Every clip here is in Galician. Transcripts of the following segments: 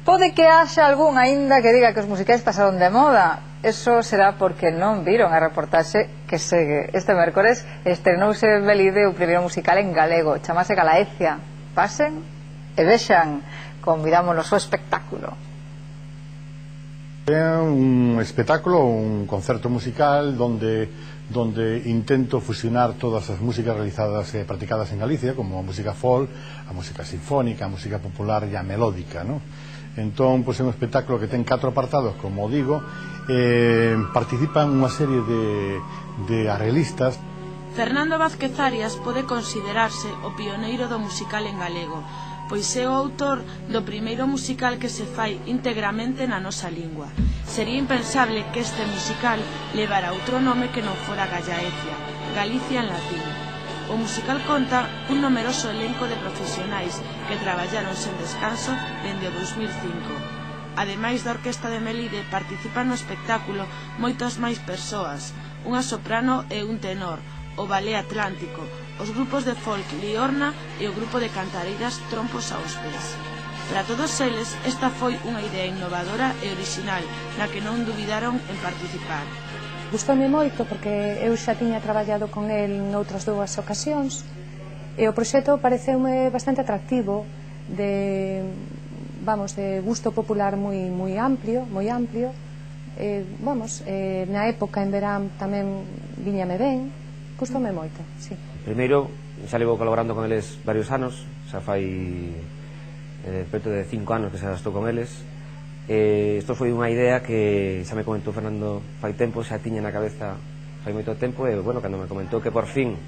Pode que haxa algún aínda que diga que os musicais pasaron de moda. Eso será porque non viron a reportaxe que segue. Este mércores estrenouse en Melide o primeiro musical en galego, chamase Galaecia. Pasen e vexan, convidámonos ao espectáculo. É un espectáculo, un concerto musical donde intento fusionar todas as músicas realizadas e practicadas en Galicia, como a música folk, a música sinfónica, a música popular e a melódica, ¿no? Entón, pois é un espectáculo que ten 4 apartados, como digo, participan unha serie de arreglistas. Fernando Vázquez Arias pode considerarse o pioneiro do musical en galego, pois é o autor do primeiro musical que se fai íntegramente na nosa lingua. Sería impensable que este musical levara outro nome que non fora Galaecia, Galicia en latín. O musical conta un numeroso elenco de profesionais que traballaron sen descanso dende o 2005. Ademais da Orquesta de Melide, participan no espectáculo moitas máis persoas, unha soprano e un tenor, o Ballet Atlántico, os grupos de folk Liorna e o grupo de cantareiras Trompos aos Pés. Para todos eles, esta foi unha idea innovadora e original na que non dubidaron en participar. Gustoume moito porque eu xa tiña traballado con el noutras 2 ocasións e o proxecto pareceume bastante atractivo, de gusto popular moi amplio, na época en verán tamén viñame ben, gustoume moito, sí. Primeiro, xa levo colaborando con eles varios anos, xa fai preto de 5 anos que xa estou con eles. Isto foi unha idea que xa me comentou Fernando fai tempo, xa tiña na cabeza fai moito tempo, e, bueno, cando me comentou que por fin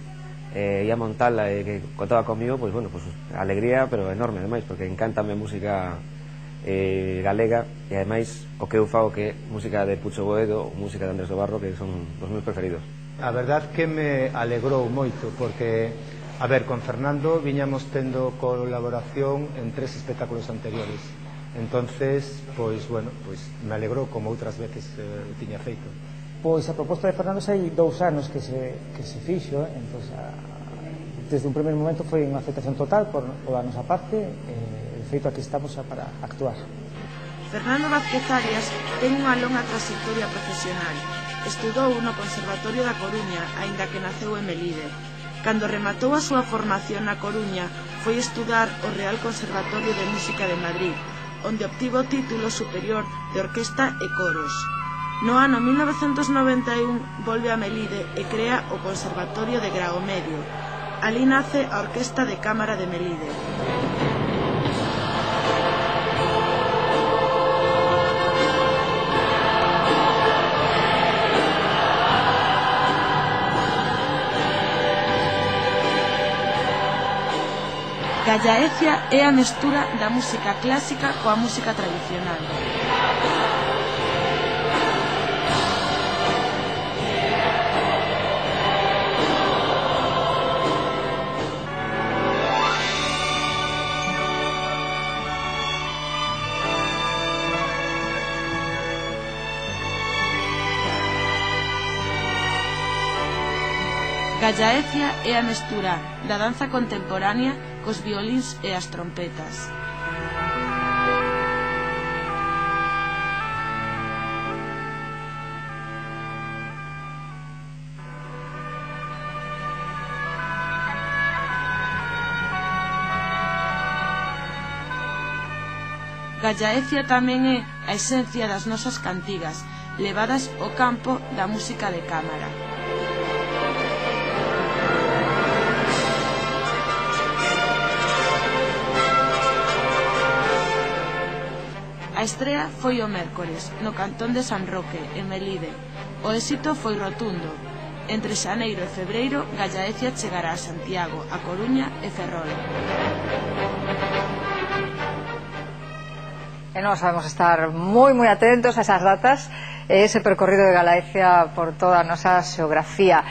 ia montala e que contaba comigo, pois, bueno, a alegría, pero enorme, ademais, porque encántame a música galega, e ademais o que eu fago que é música de Pucho Boedo, música de Andrés do Barro, que son os meus preferidos. A verdad que me alegrou moito, porque, a ver, con Fernando viñamos tendo colaboración en 3 espectáculos anteriores. Entonces, pois, bueno, pois me alegrou como outras veces tiña feito. Pois a proposta de Fernando hai 2 anos que se fixo, entón, desde un primeiro momento foi unha aceptación total por a nosa parte, e feito aquí estamos para actuar. Fernando Vázquez Arias ten unha longa trayectoria profesional. Estudou no Conservatorio da Coruña, aínda que naceu en Melide. Cando rematou a súa formación na Coruña, foi estudar o Real Conservatorio de Música de Madrid, onde obtivo o título superior de Orquesta e Coros. No ano 1991 volve a Melide e crea o Conservatorio de Grao Medio. Alí nace a Orquesta de Cámara de Melide. Galaecia é a mestura da música clásica coa música tradicional. Galaecia é a mestura da danza contemporánea cos violíns e as trompetas. Galaecia tamén é a esencia das nosas cantigas, levadas ao campo da música de cámara. A estrea foi o mércores, no cantón de San Roque, en Melide. O éxito foi rotundo. Entre xaneiro e febreiro, Galaecia chegará a Santiago, a Coruña e Ferrol. E nós vamos estar moi atentos a esas datas e ese percorrido de Galaecia por toda a nosa xeografía.